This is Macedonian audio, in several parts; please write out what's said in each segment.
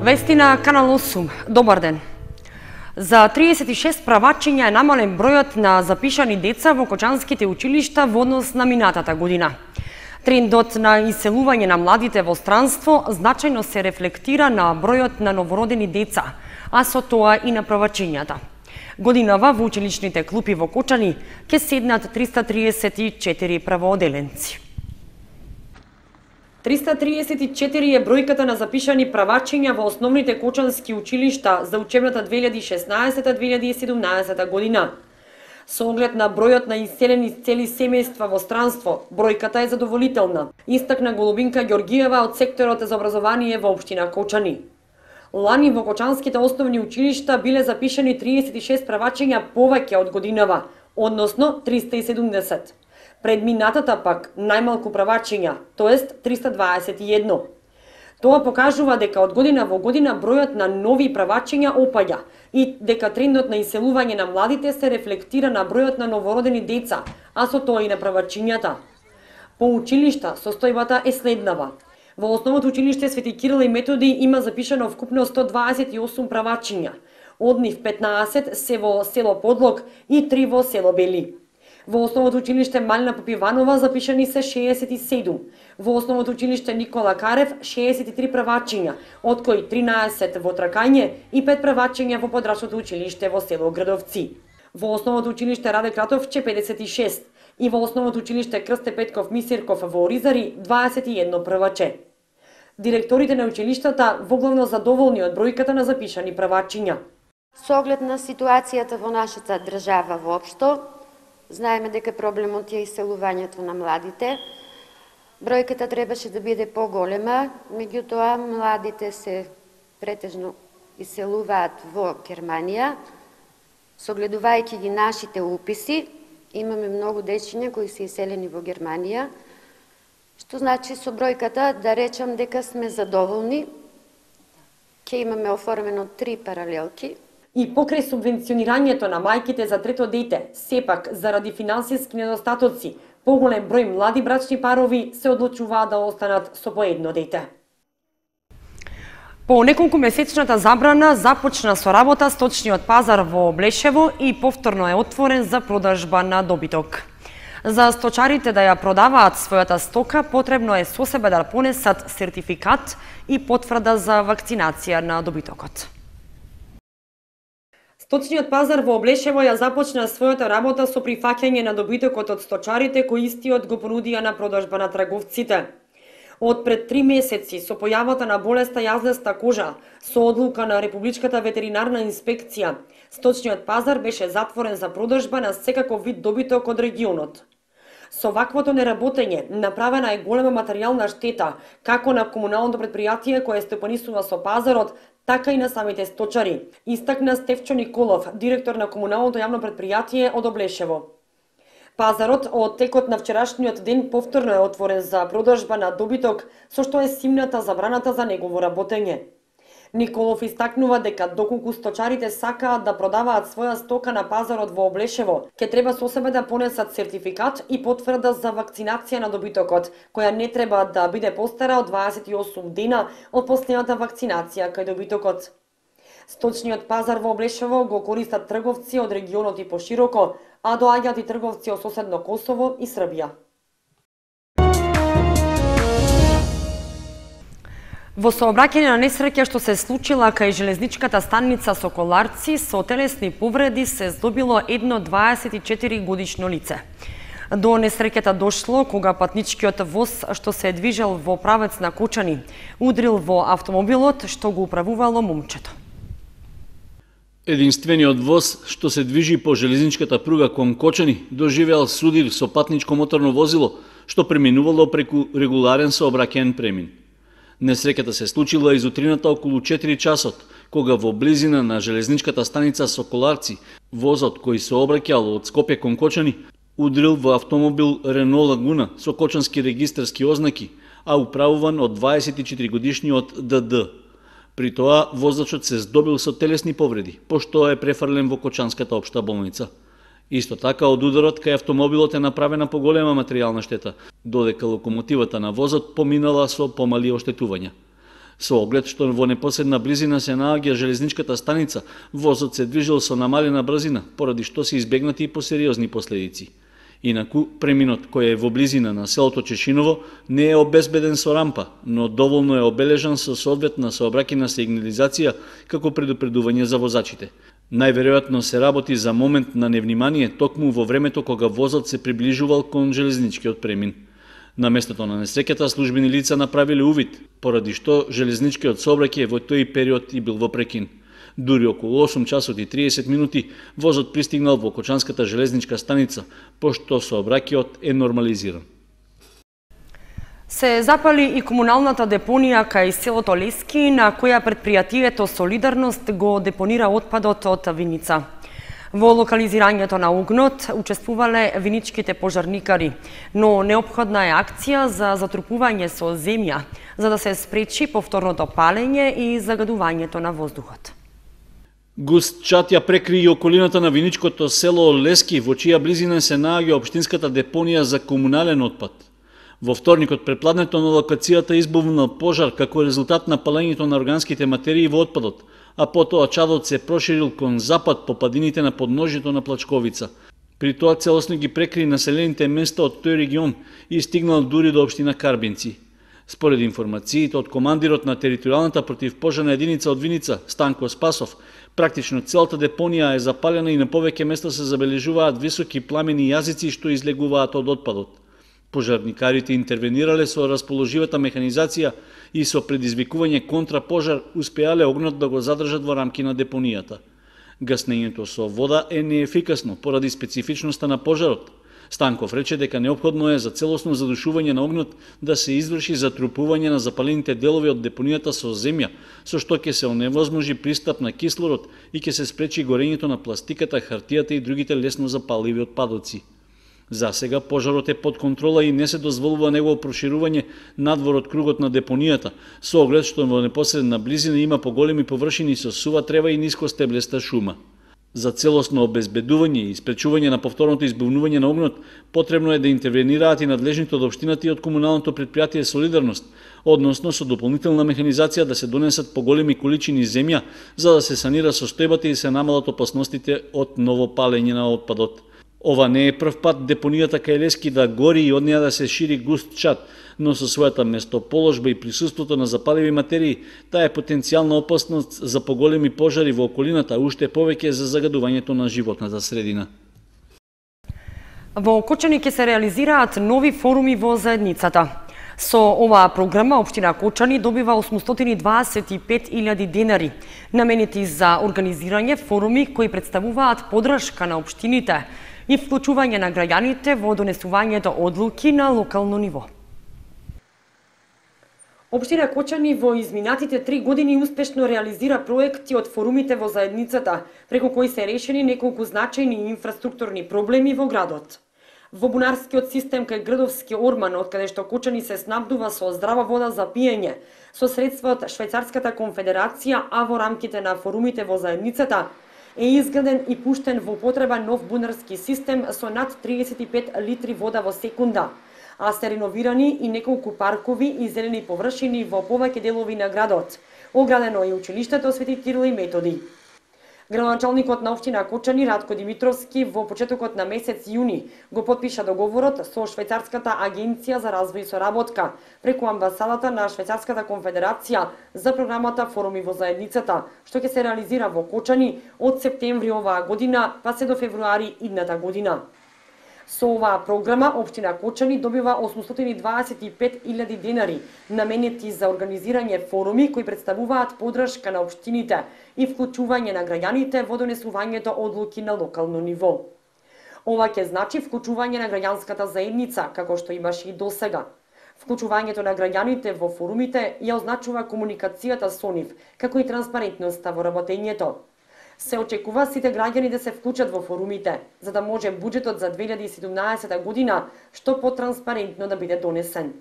Вести на Канал 8. Добар ден. За 36 правачиња е намален бројот на запишани деца во кочанските училишта во однос на минатата година. Трендот на иселување на младите во странство значајно се рефлектира на бројот на новородени деца, а со тоа и на правачињата. Годинава во училишните клупи во Кочани ќе седнат 334 правооделенци. 334 е бројката на запишани правачиња во основните кочански училишта за учебната 2016-2017 година. Со оглед на бројот на иселени цели семејства во странство, бројката е задоволителна, истакна Голубинка Ѓоргиева од секторот за образование во општина Кочани. Лани во кочанските основни училишта биле запишани 36 правачиња повеќе од годинава, односно 370. Пред минатата пак најмалку правачиња, тоест 321. Тоа покажува дека од година во година бројот на нови правачиња опаѓа и дека трендот на иселување на младите се рефлектира на бројот на новородени деца, а со тоа и на правачињата. По училишта состојбата е следнава. Во основното училиште Свети Кирил и Методи има запишано вкупно 128 правачиња. Од нив 15 се во село Подлог и 3 во село Бели. Во основното училиште Малина Попиванова запишани се 67. Во основното училиште Никола Карев 63 правачиња, од кои 13 во Тракање и 5 правачиња во подрачното училиште во село Градовци. Во основното училиште Раде Кратовче 56 и во основното училиште Крсте Петков Мисирков во Оризари 21 праваче. Директорите на училиштата воглавно задоволни од бројката на запишани правачиња. Со оглед на ситуацијата во нашата држава воопшто, знаеме дека проблемот е иселувањето на младите. Бројката требаше да биде поголема, меѓутоа младите се претежно иселуваат во Германија. Согледувајќи ги нашите уписи, имаме многу дечиња кои се иселени во Германија, што значи со бројката да речам дека сме задоволни. Ќе имаме оформено 3 паралелки. И покрај субвенционирањето на мајките за трето дете, сепак заради финансиски недостатоци, поголем број млади брачни парови се одлучуваат да останат со по едно дете. По неколку месечната забрана започна со работа сточниот пазар во Блешево и повторно е отворен за продажба на добиток. За сточарите да ја продаваат својата стока, потребно е со себе да понесат сертификат и потврда за вакцинација на добитокот. Сточниот пазар во Облешево ја започна својата работа со прифаќање на добитокот од сточарите кои истиот го понудија на продажба на трговците. Од пред 3 месеци со појавата на болеста јазлеста кожа, со одлука на Републичката ветеринарна инспекција, сточниот пазар беше затворен за продажба на секаков вид добиток од регионот. Со ваквото неработење направена е голема материјална штета, како на комуналното предпријатие кое стопанисува со пазарот, така и на самите сточари, истакна Стефчо Николов, директор на комуналното јавно предпријатие од Облешево. Пазарот од текот на вчерашниот ден повторно е отворен за продажба на добиток, со што е симната забраната за негово работење. Николов истакнува дека доколку сточарите сакаат да продаваат своја стока на пазарот во Облешево, ќе треба со себе да понесат сертификат и потврда за вакцинација на добитокот, која не треба да биде постара од 28 дена од последната вакцинација кај добитокот. Сточниот пазар во Облешево го користат трговци од регионот и пошироко, а доаѓаат и трговци од соседно Косово и Србија. Во сообраќање на несреќа што се случила кај железничката станица Соколарци, со телесни повреди се здобило едно 24 годишно лице. До несреќата дошло кога патничкиот воз што се движел во правец на Кочани удрил во автомобилот што го управувало момчето. Единствениот воз што се движи по железничката пруга кон Кочани доживеал судир со патничко моторно возило што преминувало преку регуларен сообраќаен премин. Несреќата се случила изутрината околу 4 часот, кога во близина на железничката станица Соколарци, возот кој се обраќал од Скопје кон Кочани, удрил во автомобил Рено Лагуна со кочански регистарски ознаки, а управуван од 24 годишниот ДД. При тоа возачот се здобил со телесни повреди, пошто е префрлен во Кочанската општа болница. Исто така, од ударот кај автомобилот е направена поголема материјална штета, додека локомотивата на возот поминала со помали оштетувања. Со оглед што во непосредна близина се наоѓа железничката станица, возот се движел со намалена брзина, поради што се избегнати и посериозни последици. Инаку, преминот кој е во близина на селото Чешиново не е обезбеден со рампа, но доволно е обележан со соодветна сообраќајна сигнализација како предупредување за возачите. Најверојатно се работи за момент на невнимание токму во времето кога возот се приближувал кон железничкиот премин. На местото на несреќата службени лица направиле увид, поради што железничкиот сообраќај во тој период и бил во прекин. Дури околу 8 часот и 30 минути возот пристигнал во Кочанската железничка станица, пошто сообраќајот е нормализиран. Се запали и комуналната депонија кај селото Лески, на која предпријатието Солидарност го депонира отпадот од Виница. Во локализирањето на огнот учествувале виничките пожарникари, но неопходна е акција за затрупување со земја, за да се спречи повторното палење и загадувањето на воздухот. Густ чат ја прекри и околината на виничкото село Лески, во чија близина се наоѓа општинската депонија за комунален отпад. Во вторникот препладнето на локацијата избувнал пожар како резултат на палењето на органските материи во отпадот, а потоа чадот се проширил кон запад по падините на подножјето на Плачковица. При тоа целосно ги прекри населените места од тој регион и стигнал дури до општина Карбинци. Според информациите од командирот на територијалната противпожарна единица од Виница, Станко Спасов, практично целата депонија е запалена и на повеќе места се забележуваат високи пламени јазици што излегуваат од отпадот. Пожарникарите интервенирале со расположивата механизација и со предизвикување контрапожар успеале огнот да го задржат во рамки на депонијата. Гаснењето со вода е неефикасно поради специфичноста на пожарот. Станков рече дека неопходно е за целосно задушување на огнот да се изврши затрупување на запалените делови од депонијата со земја, со што ќе се оневозможи пристап на кислород и ќе се спречи горењето на пластиката, хартијата и другите лесно запаливи отпадоци. За сега пожарот е под контрола и не се дозволува негово проширување надвор од кругот на депонијата, со оглед што во непосредна близина има поголеми површини со сува трева и ниско стеблеста шума. За целосно обезбедување и спречување на повторното избувнување на огнот, потребно е да интервенираат и надлежните од општината и од комуналното предпријатие Солидарност, односно со дополнителна механизација да се донесат поголеми количини земја за да се санира состојбата и се намалат опасностите од ново палење на отпадот. Ова не е прв пат депонијата кај Лески да гори и од неја да се шири густ чат, но со својата местоположба и присуството на запаливи материи, таа е потенцијална опасност за поголеми пожари во околината, уште повеќе за загадувањето на животната средина. Во Кочани ќе се реализираат нови форуми во заедницата. Со оваа програма општина Кочани добива 825.000 денари, наменети за организирање форуми кои представуваат подршка на општините и вклучување на граѓаните во донесувањето одлуки на локално ниво. Општина Кочани во изминатите 3 години успешно реализира проекти од форумите во заедницата, преку кои се решени неколку значајни инфраструктурни проблеми во градот. Во бунарскиот систем кај Градовски Орман, од каде што Кочани се снабдува со здрава вода за пиење, со средства од Швајцарската конфедерација, а во рамките на форумите во заедницата, е изграден и пуштен во употреба нов бунарски систем со над 35 литри вода во секунда, а се реновирани и неколку паркови и зелени површини во повеќе делови на градот. Оградено е училиштето Свети Кирил и Методи. Градоначалникот на општина Кочани Радко Димитровски во почетокот на месец јуни го потпиша договорот со Швајцарската агенција за развој и соработка преку амбасадата на Швајцарската конфедерација за програмата Форуми во заедницата, што ќе се реализира во Кочани од септември оваа година па се до февруари идната година. Со оваа програма општина Кочани добива 825.000 денари, наменети за организирање форуми кои представуваат подршка на општините и вклучување на граѓаните во донесувањето одлуки на локално ниво. Ова ќе значи вклучување на граѓанската заедница, како што имаше и досега. Вклучувањето на граѓаните во форумите ја означува комуникацијата со нив, како и транспарентноста во работењето. Се очекува сите граѓани да се вклучат во форумите, за да може буџетот за 2017 година што потранспарентно да биде донесен.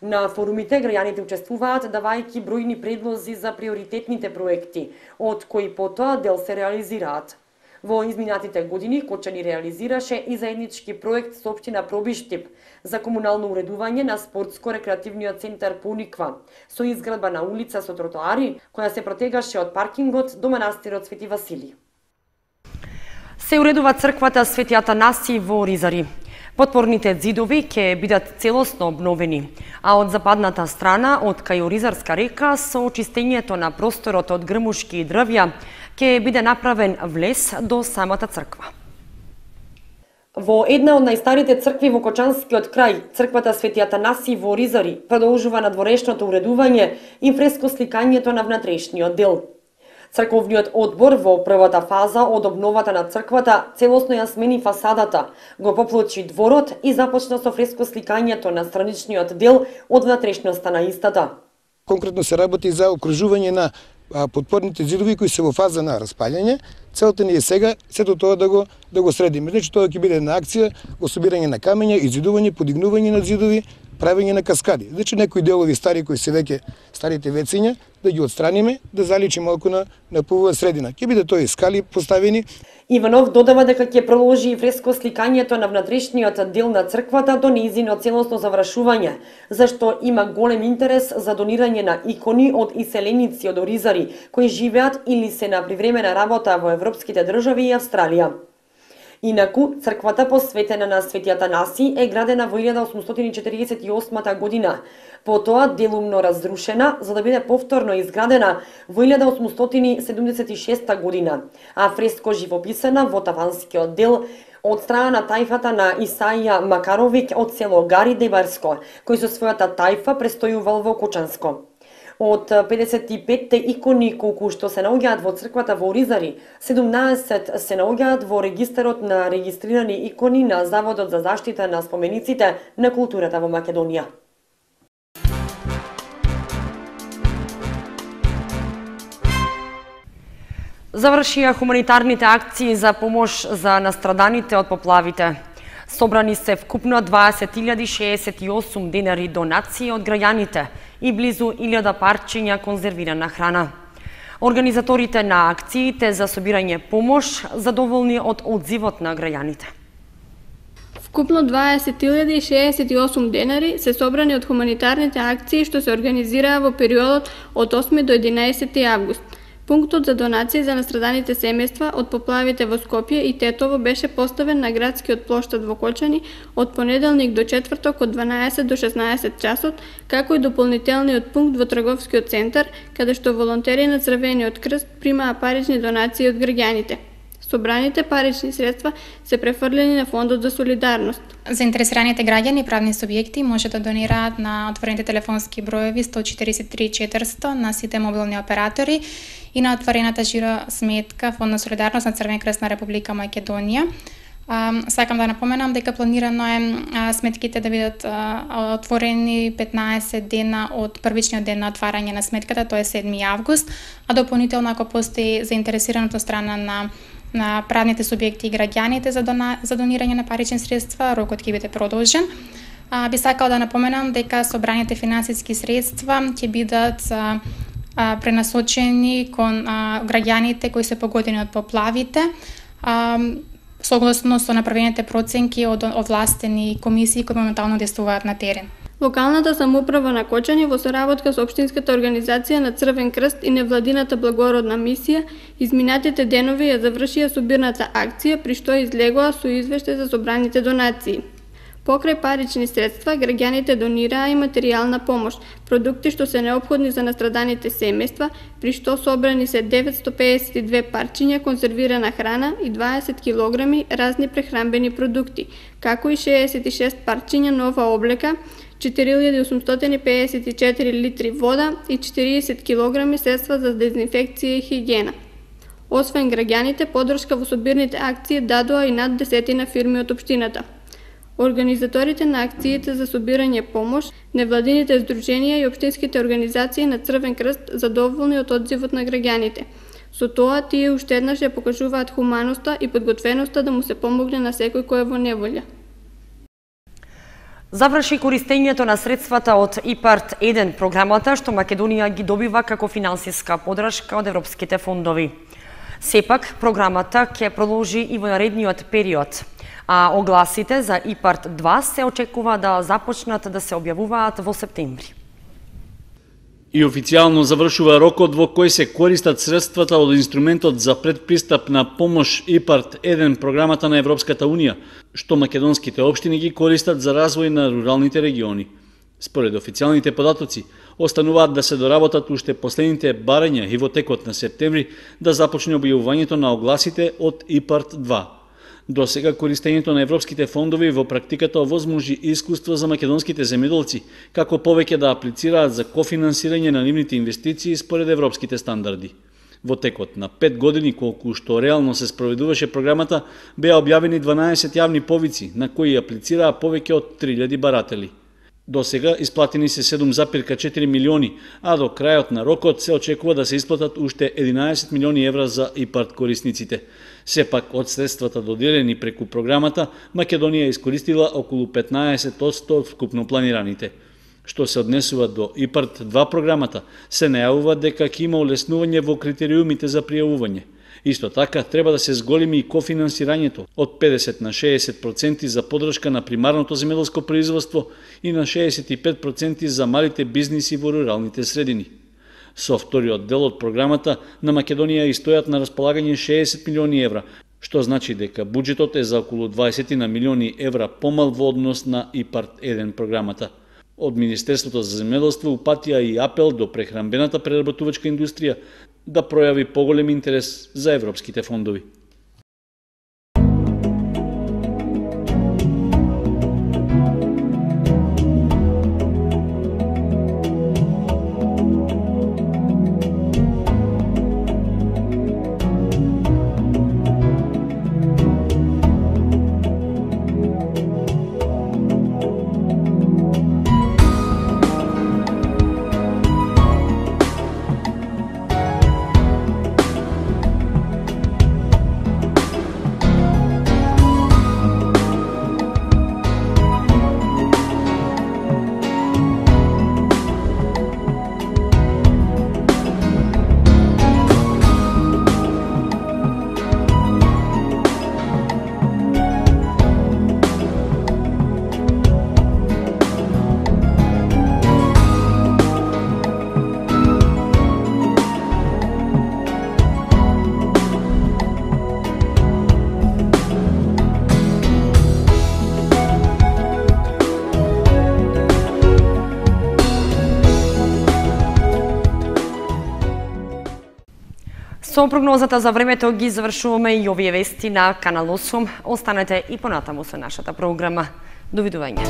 На форумите граѓаните учествуваат давајќи бројни предлози за приоритетните проекти, од кои потоа дел се реализираат. Во изминатите години Кочани реализираше и заеднички проект со општина Пробиштип за комунално уредување на спортско-рекреативниот центар Пониква, со изградба на улица со тротоари, која се протегаше од паркингот до манастирот Свети Васили. Се уредува црквата Свети Атанаси во Ризари. Подпорните ѕидови ќе бидат целосно обновени, а од западната страна, од кај Ризарска река, со очистењето на просторот од грмушки и дрвја, ќе биде направен влез до самата црква. Во една од најстарите цркви во Кочанскиот крај, црквата Свети Атанаси во Ризари, продолжува надворешното уредување и фреско сликањето на внатрешниот дел. Црковниот одбор во првата фаза од обновата на црквата целосно ја смени фасадата, го поплочи дворот и започна со фреско сликањето на страничниот дел од внатрешноста на истата. Конкретно се работи за окружување на подпорните ѕидови кои се во фаза на распаѓање. Целта ни е сега сето тоа да го средиме. Значи тоа ќе биде една акција во собирање на камења, изидување, подигнување на ѕидови, правење на каскади. Значи некои делови стари кои се веќе старите вециња да ги отстраниме, да заличи малку на повоја средина. Ќе биде тоа и скали поставени. Иванов додава дека ќе продолжи и фреско сликањето на внатрешниот дел на црквата до нејзино целосно завршување, зашто има голем интерес за донирање на икони од иселеници од Ризари кои живеат или се на привремена работа во европските држави и Австралија. Инаку, црквата посветена на Свети Атанаси е градена во 1848 година, потоа делумно разрушена за да биде повторно изградена во 1876 година, а фреско живописана во таванскиот дел од страна на тајфата на Исаија Макаровиќ од село Гари Дебарско, кој со својата тајфа престојувал во Кочанско. Од 55-те икони колку што се наоѓаат во црквата во Ризари, 17 се наоѓаат во регистарот на регистрирани икони на Заводот за заштита на спомениците на културата во Македонија. Завршија хуманитарните акции за помош за настраданите од поплавите. Собрани се вкупно 20.068 денари донации од граѓаните и близу 1000 парчиња конзервирана храна. Организаторите на акциите за собирање помош задоволни од одзивот на граѓаните. Вкупно 20.068 денари се собрани од хуманитарните акции што се организираа во периодот од 8 до 11 август. Пунктот за донации за настраданите семејства од поплавите во Скопје и Тетово беше поставен на градскиот плоштад во Кочани од понеделник до четврток од 12 до 16 часот, како и дополнителниот пункт во трговскиот центар, каде што волонтери на Црвениот крст примаа парични донации од граѓаните. Собраните парични средства се префрлени на Фондот за солидарност. Заинтересираните граѓани и правни субјекти може да донираат на отворените телефонски броеви 143 400 на сите мобилни оператори и на отворената жиро сметка Фонд на солидарност на Црвен крст на Република Македонија. Сакам да напоменам дека планирано е сметките да бидат отворени 15 дена од првичниот ден на отварање на сметката, тоа е 7 август, а дополнително ако постои заинтересираната страна на правните субјекти и граѓаните за донирање на парични средства, рокот ќе биде продолжен. Би сакал да напоменам дека собраните финансиски средства ќе бидат пренасочени кон граѓаните кои се погодени од поплавите, согласно со направените проценки од овластени комисии кои моментално действуваат на терен. Локалната самоуправа на Кочани во соработка со Општинската организација на Црвен крст и невладината благородна мисија изминатите денови ја завршија собирната акција при што излегоа со извештај за собраните донации. Покрај парични средства, граѓаните донираа и материјална помош, продукти што се неопходни за настраданите семејства, при што собрани се 952 парчиња конзервирана храна и 20 килограми разни прехранбени продукти, како и 66 парчиња нова облека, 4854 литри вода и 40 килограми средства за дезинфекција и хигиена. Освен граѓаните, поддршка во собирните акции дадоа и над 10 фирми од општината. Организаторите на акциите за собирање помош, невладините здруженија и општинските организации на Црвен крст задоволни од одзивот на граѓаните. Со тоа тие уште еднаш ја покажуваат хуманоста и подготвеноста да му се помогне на секој кој е во неволја. Заврши користењето на средствата од ИПАРТ 1 програмата што Македонија ги добива како финансиска поддршка од европските фондови. Сепак, програмата ќе продолжи и во наредниот период, а огласите за ИПАРД 2 се очекува да започнат да се објавуваат во септември. И официјално завршува рокот во кој се користат средствата од инструментот за предпристапна помош ИПАРД 1, програмата на Европската Унија, што македонските општини ги користат за развој на руралните региони. Според официјалните податоци, остануваат да се доработат уште последните барања и во текот на септември да започне објавувањето на огласите од ИПАРД 2. До сега користењето на европските фондови во практиката овозможи искуство за македонските земјоделци, како повеќе да аплицираат за кофинансирање на нивните инвестиции според европските стандарди. Во текот на 5 години колку што реално се спроведуваше програмата, беа објавени 12 јавни повици на кои аплицираа повеќе од 3000 баратели. До сега исплатени се 7,4 милиони, а до крајот на рокот се очекува да се исплатат уште 11 милиони евра за ИПАРД корисниците. Сепак, од средствата доделени преку програмата, Македонија искористила околу 15% од вкупно планираните. Што се однесува до ИПАРД 2 програмата, се најавува дека ќе има олеснување во критериумите за пријавување. Исто така, треба да се зголеми и кофинансирањето од 50 на 60% за подршка на примарното земјоделско производство и на 65% за малите бизниси во руралните средини. Со вториот дел од програмата на Македонија и стојат на располагање 60 милиони евра, што значи дека буџетот е за околу 20 на милиони евра помал во однос на ИПАРД 1 програмата. Од Министерството за земјоделство упатија и апел до прехранбената преработувачка индустрија да пројави поголем интерес за европските фондови. Со прогнозата за времето ги завршуваме и овие вести на Канал 8. Останете и понатаму со нашата програма. Довидување.